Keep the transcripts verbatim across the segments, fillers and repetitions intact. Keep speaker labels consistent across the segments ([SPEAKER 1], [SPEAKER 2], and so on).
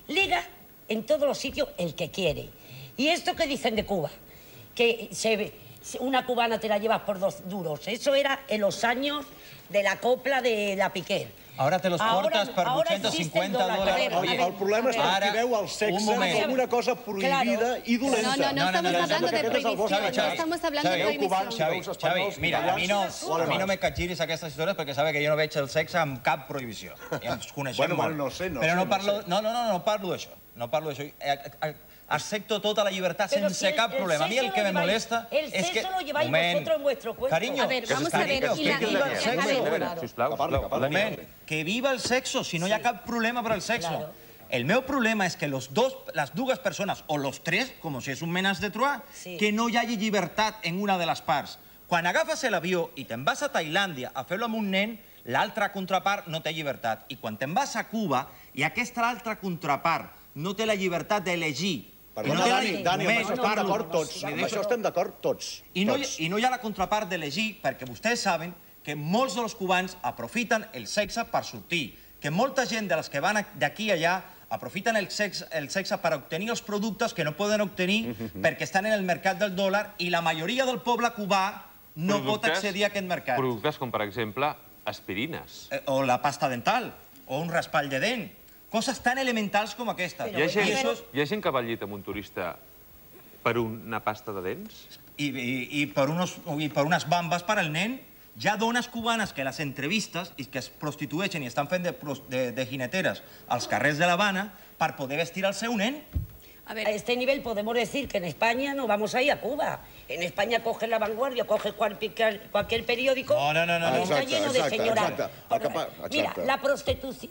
[SPEAKER 1] liga en todos los sitios el que quiere. Y esto que dicen de Cuba, que se, una cubana te la llevas por dos duros, eso era en los años de la copla de la Piquer.
[SPEAKER 2] Ahora te los cortas per vuit-cents cinquanta dòlars.
[SPEAKER 3] El problema és que aquí veu el sexe com una cosa prohibida i dolenta.
[SPEAKER 4] No, no, no estamos hablando de prohibició, no estamos hablando de prohibició.
[SPEAKER 2] Xavi, Xavi, mira, a mi no me catgiris aquestes històries perquè sabe que jo no veig el sexe amb cap prohibició. Ja ens coneixem molt.
[SPEAKER 3] No sé, no
[SPEAKER 2] sé. Però no parlo... No, no, no, no parlo d'això. No parlo d'això. Acepto tota la llibertat sense cap problema. A mi el que me molesta és que...
[SPEAKER 1] El sexo lo lleváis vosotros en vuestro cuerpo.
[SPEAKER 2] Carinyo,
[SPEAKER 4] a ver, vamos a ver,
[SPEAKER 2] que viva el sexo. Sisplau, moment, que viva el sexo, si no hi ha cap problema per al sexo. El meu problema és que les dues persones, o los tres, com si és un menaç de Troyes, que no hi hagi llibertat en una de les parts. Quan agafes l'avió i te'n vas a Tailàndia a fer-lo amb un nen, l'altra contrapart no té llibertat. I quan te'n vas a Cuba i aquesta altra contrapart no té la llibertat d'elegir.
[SPEAKER 3] Perdona, Dani, Dani, amb això estem d'acord tots. Amb això estem d'acord tots.
[SPEAKER 2] I no hi ha la contrapart d'elegir perquè vostès saben que molts dels cubans aprofiten el sexe per sortir, que molta gent de les que van d'aquí a allà aprofiten el sexe per obtenir els productes que no poden obtenir perquè estan en el mercat del dòlar i la majoria del poble cubà no pot accedir a aquest mercat.
[SPEAKER 5] Productes com, per exemple, aspirines.
[SPEAKER 2] O la pasta dental, o un raspall de dent. Coses tan elementals com aquesta.
[SPEAKER 5] Hi ha gent que va al llit amb un turista per una pasta de dents?
[SPEAKER 2] I per unes bambes per al nen. Hi ha dones cubanes que les entrevistes i que es prostitueixen i estan fent de jineteres als carrers de l'Havana per poder vestir el seu nen.
[SPEAKER 1] A este nivel podemos decir que en España no vamos a ir a Cuba. En España coges La Vanguardia, coges cualquier periódico.
[SPEAKER 2] No, no, no.
[SPEAKER 1] Está lleno de señoras. Mira,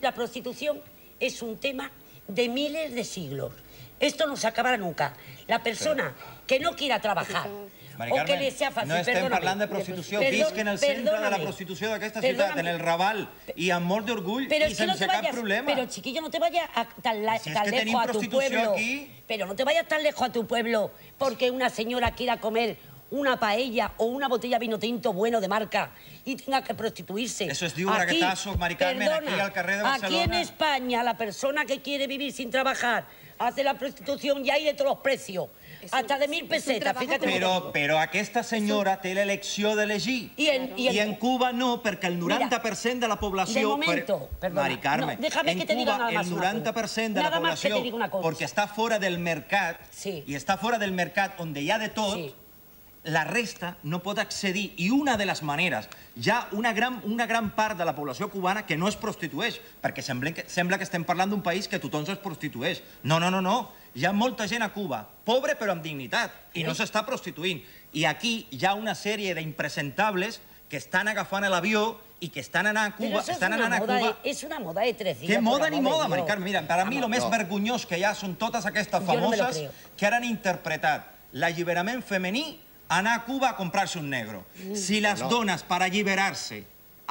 [SPEAKER 1] la prostitución es un tema de miles de siglos. Esto no se acabará nunca. La persona que no quiera trabajar o que le sea fácil...
[SPEAKER 2] No estem parlant de prostitució. Visc en el centre de la prostitució d'aquesta ciutat, en el Raval, i amb molt d'orgull i sense cap problema.
[SPEAKER 1] Pero, chiquillo, no te vayas tan lejos a tu pueblo. Pero no te vayas tan lejos a tu pueblo porque una señora quiera comer una paella o una botella de vino tinto bueno de marca y tenga que prostituirse.
[SPEAKER 2] Eso es de un raquetazo, Mari Carmen, aquí al carrer de Barcelona.
[SPEAKER 1] Aquí en España, la persona que quiere vivir sin trabajar hace la prostitución y hay de todos los precios. Hasta de mil pesetas, fíjate.
[SPEAKER 2] Però aquesta senyora té l'elecció d'elegir. I en Cuba no, perquè el noranta per cent de la població...
[SPEAKER 1] De momento, perdona.
[SPEAKER 2] Mari Carmen, en Cuba el noranta per cent de la població, perquè està fora del mercat, i està fora del mercat on hi ha de tot, la resta no pot accedir. I una de les maneres, hi ha una gran part de la població cubana que no es prostitueix, perquè sembla que estem parlant d'un país que tothom es prostitueix. No, no, no, no. Hi ha molta gent a Cuba, pobre però amb dignitat, i no s'està prostituint. I aquí hi ha una sèrie d'impresentables que estan agafant l'avió i que estan anant a Cuba...
[SPEAKER 1] Però és una moda de tres dies.
[SPEAKER 2] Que moda ni moda, Mari Carmen. Mira, per a mi el més vergonyós que hi ha són totes aquestes famoses que han interpretat l'alliberament femení anar a Cuba a comprar-se un negro. Si les dones, per alliberar-se,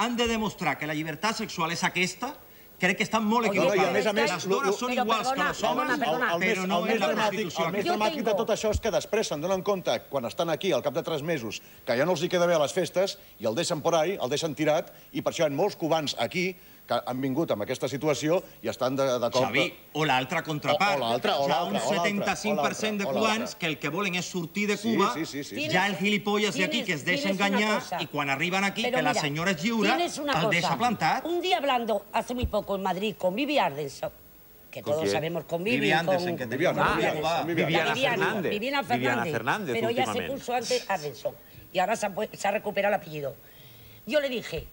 [SPEAKER 2] han de demostrar que la llibertat sexual és aquesta, crec que estan molt equivocades. Les dones són iguals que els homes, però no és la prostitució.
[SPEAKER 3] El més dramàtic de tot això és que després se'n donen compte, quan estan aquí, al cap de tres mesos, que ja no els hi queda bé a les festes, i el deixen por ahí, el deixen tirat, i per això hi ha molts cubans aquí que han vingut amb aquesta situació i estan d'acord...
[SPEAKER 2] Xavi, o l'altra contrapart. Hi ha un setanta-cinc per cent de cubans que el que volen és sortir de Cuba, hi ha el gilipolles d'aquí que es deixa enganyar i quan arriben aquí, que la senyora és lliure, el deixa plantat.
[SPEAKER 1] Un día hablando hace muy poco en Madrid con Vivi Ardenson, que todos sabemos con Vivi...
[SPEAKER 2] Vivi Ardenson, que tenía
[SPEAKER 5] una... Viviana Fernández.
[SPEAKER 1] Viviana Fernández, pero ella se puso antes Ardenson y ahora se ha recuperado el apellido. Yo le dije,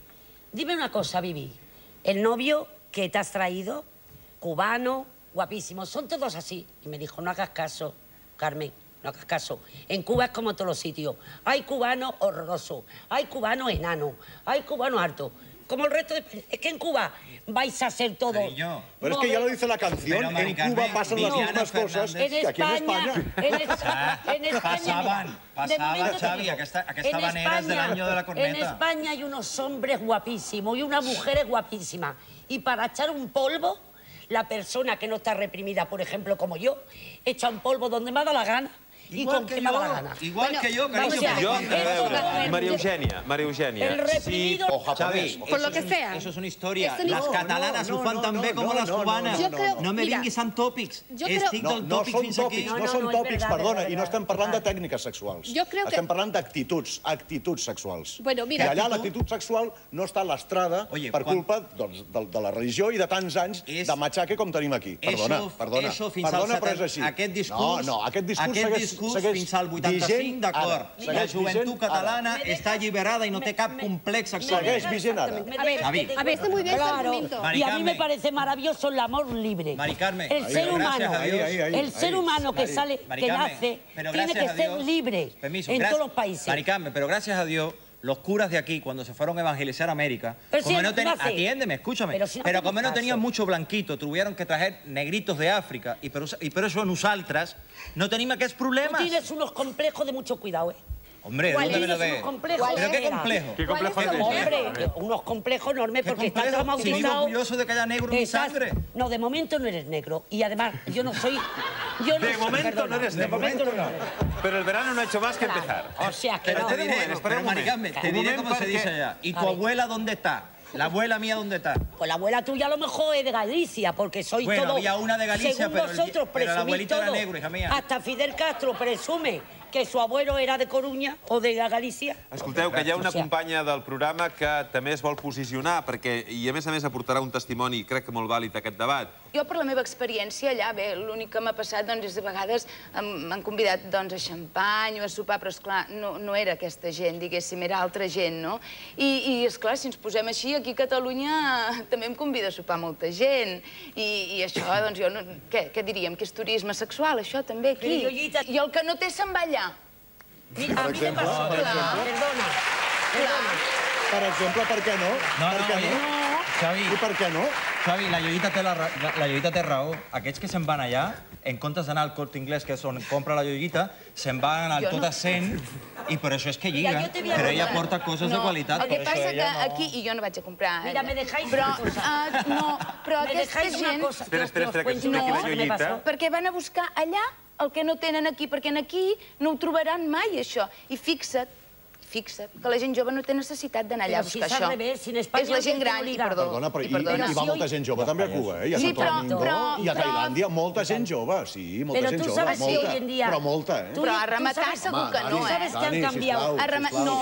[SPEAKER 1] dime una cosa, Vivi. El novio que te has traído, cubano, guapísimo, son todos así. Y me dijo, no hagas caso, Carmen, no hagas caso. En Cuba es como en todos los sitios. Hay cubanos horrorosos, hay cubanos enanos, hay cubanos hartos. Como el resto de... Es que en Cuba vais a ser todos...
[SPEAKER 3] Pero es que ya lo dice la canción, en Cuba pasan las mismas cosas que aquí en España.
[SPEAKER 1] En España...
[SPEAKER 2] Pasaba, Xavi, aquesta manera és de l'any de la corneta.
[SPEAKER 1] En España hay unos hombres guapísimos y unas mujeres guapísimas. Y para echar un polvo, la persona que no está reprimida, por ejemplo, como yo, echa un polvo donde me da la gana y con quien me da la gana.
[SPEAKER 2] Igual que yo, cariño.
[SPEAKER 5] María Eugènia, María Eugènia.
[SPEAKER 1] El reprimido...
[SPEAKER 2] Xavi,
[SPEAKER 4] por lo que sea.
[SPEAKER 2] Eso es una historia. Las catalanas ho fan tan bé com les cubanes. No me vinguis amb tòpics. Estic del tòpic fins aquí.
[SPEAKER 3] No són tòpics, perdona, i no estem parlant de tècniques sexuals. Estem parlant d'actituds, actituds sexuals. I allà l'actitud sexual no està lastrada per culpa de la religió i de tants anys de matxaque com tenim aquí. Perdona, perdona. Perdona, però és així.
[SPEAKER 2] Aquest discurs, no, no, aquest discurs fins al vuitanta-cinc, d'acord. La joventut catalana està alliberada i no té cap complex sexual.
[SPEAKER 3] Segueix vigent ara.
[SPEAKER 4] A ver, a ver, está muy bien ese argumento.
[SPEAKER 1] Y a mí me parece maravilloso el amor libre.
[SPEAKER 2] Mari Carmen,
[SPEAKER 1] el ser humano, el ser humano que sale, que nace, tiene que ser libre en todos los países.
[SPEAKER 2] Mari Carmen, pero gracias a Dios, los curas de aquí, cuando se fueron a evangelizar a América, como no tenían, atiéndeme, escúchame, pero como no tenían mucho blanquito, tuvieron que traer negritos de África, y por eso nosaltres no tenim aquests problemes.
[SPEAKER 1] Tú tienes unos complejos de mucho cuidado, ¿eh?
[SPEAKER 2] Hombre, ¿dónde me lo ves? ¿Pero qué complejo?
[SPEAKER 5] ¿Qué complejo
[SPEAKER 1] es? Hombre, unos complejos enormes porque está traumatizado.
[SPEAKER 2] Si vivo orgulloso de que haya negro en mi sangre.
[SPEAKER 1] No, de momento no eres negro. Y además, yo no soy...
[SPEAKER 5] De momento no eres negro. De momento no. Pero el verano no ha hecho más que empezar.
[SPEAKER 1] O sea que
[SPEAKER 2] no. Pero te diré, pero Maricame, te diré cómo se dice allá. ¿Y tu abuela dónde está? ¿La abuela mía dónde está?
[SPEAKER 1] Pues la abuela tuya a lo mejor es de Galicia, porque soy todo...
[SPEAKER 2] Bueno, había una de Galicia,
[SPEAKER 1] según
[SPEAKER 2] pero,
[SPEAKER 1] vosotros,
[SPEAKER 2] el, pero el abuelito
[SPEAKER 1] todo.
[SPEAKER 2] era negro, hija mía.
[SPEAKER 1] Hasta Fidel Castro presume que su abuelo era de Coruña o de Galícia.
[SPEAKER 5] Escolteu, que hi ha una companya del programa que també es vol posicionar, perquè, i a més a més aportarà un testimoni, crec que molt vàlid, aquest debat.
[SPEAKER 6] Jo, per la meva experiència allà, bé, l'únic que m'ha passat és a vegades m'han convidat a xampany o a sopar, però esclar, no era aquesta gent, diguéssim, era altra gent, no? I esclar, si ens posem així, aquí a Catalunya també em convida a sopar molta gent. I això, doncs jo, què diríem? Que és turisme sexual, això també aquí. I el que no té se'n va allà.
[SPEAKER 1] Mira, a mi me pasó, perdona, perdona.
[SPEAKER 3] Per exemple, per què no?
[SPEAKER 2] No, no, Xavi.
[SPEAKER 3] I per què no?
[SPEAKER 2] Xavi, la Llollita té raó. Aquests que se'n van allà, en comptes d'anar al Corte Inglés, que és on compra la Llollita, se'n van al tot assent i per això és que lliga. Però ella porta coses de qualitat.
[SPEAKER 6] El que passa que aquí, i jo no vaig a comprar...
[SPEAKER 1] Mira, me dejáis
[SPEAKER 6] una cosa. No, però aquesta gent...
[SPEAKER 5] Espera, espera, espera, que expliqui la Llollita.
[SPEAKER 6] Perquè van a buscar allà el que no tenen aquí, perquè aquí no ho trobaran mai, això. I fixa't, fixa't, que la gent jove no té necessitat d'anar allà a buscar això. És la gent gran, i perdó.
[SPEAKER 3] Perdona, però hi va molta gent jove també a Cuba, eh? I a Santo Domingo, i a Tailàndia, molta gent jove, sí, molta gent jove, molta, però molta, eh?
[SPEAKER 6] Però a rematar segur que no, eh?
[SPEAKER 1] Sabes que han canviat.
[SPEAKER 6] No,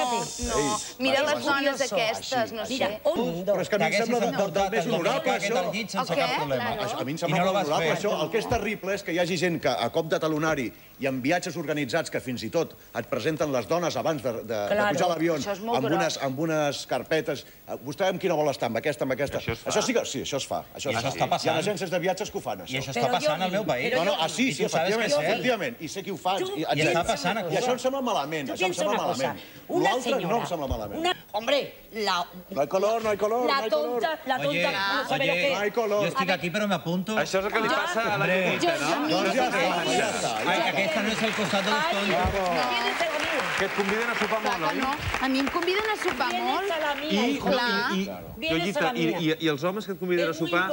[SPEAKER 6] no, mira les dones aquestes, no sé.
[SPEAKER 3] Però és que a mi em sembla més honorable, això. A mi em sembla molt honorable, això. El que és terrible és que hi hagi gent que a cop de talonari i en viatges organitzats que fins i tot et presenten les dones abans de pujar a l'avió amb unes carpetes. Vostè amb quina vol estar? Amb aquesta, amb aquesta? Això sí que... Sí, això es fa.
[SPEAKER 2] I això està passant.
[SPEAKER 3] Hi ha agències de viatges que ho fan, això.
[SPEAKER 2] I això està passant al meu país.
[SPEAKER 3] No, no, ah, sí, sí, efectivament. I sé qui ho fa.
[SPEAKER 2] I està passant.
[SPEAKER 3] I això em sembla malament. Això em sembla malament. L'altre no em sembla malament.
[SPEAKER 1] Hombre, la...
[SPEAKER 3] No hay color, no hay color, no hay color.
[SPEAKER 1] La tonta, no sabe lo que...
[SPEAKER 3] No hay color.
[SPEAKER 2] Jo estic aquí, però m'apunto.
[SPEAKER 5] Això és el que li passa a la Llollita, no?
[SPEAKER 3] Doncs ja està, ja està.
[SPEAKER 2] Aquesta no és el costat de los tontos.
[SPEAKER 5] Que et conviden a sopar molt, oi?
[SPEAKER 6] A mi em conviden a sopar molt.
[SPEAKER 5] I els homes que et conviden a sopar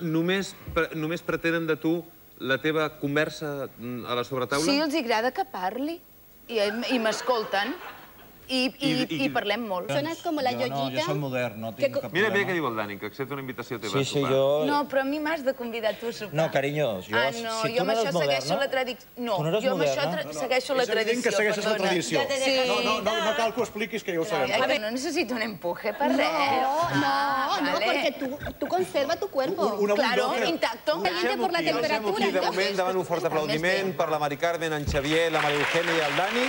[SPEAKER 5] només pretenen de tu la teva conversa a la sobretaula?
[SPEAKER 6] Sí, els agrada que parli i m'escolten. I parlem molt.
[SPEAKER 4] Sones com la Llollita.
[SPEAKER 2] Jo soc modern, no tinc cap
[SPEAKER 5] problema. Mira bé què diu el Dani, que accepta una invitació teva a sopar.
[SPEAKER 3] Sí, sí, jo...
[SPEAKER 6] No, però a mi m'has de convidar tu a sopar.
[SPEAKER 3] No, carinyo, jo...
[SPEAKER 6] Ah, no, jo amb això segueixo la tradició. No, jo amb això segueixo la tradició.
[SPEAKER 3] És evident que segueixes la tradició. No cal que ho expliquis, que ja ho sabem.
[SPEAKER 6] A ver, no necesito un empuje per res.
[SPEAKER 4] No, no, porque tú conserva tu cuerpo.
[SPEAKER 6] Claro, intacto.
[SPEAKER 4] Caliente por la temperatura.
[SPEAKER 5] De moment, davant un fort aplaudiment per la Mari Carmen, en Xavier, la Maria Eugènia i el Dani.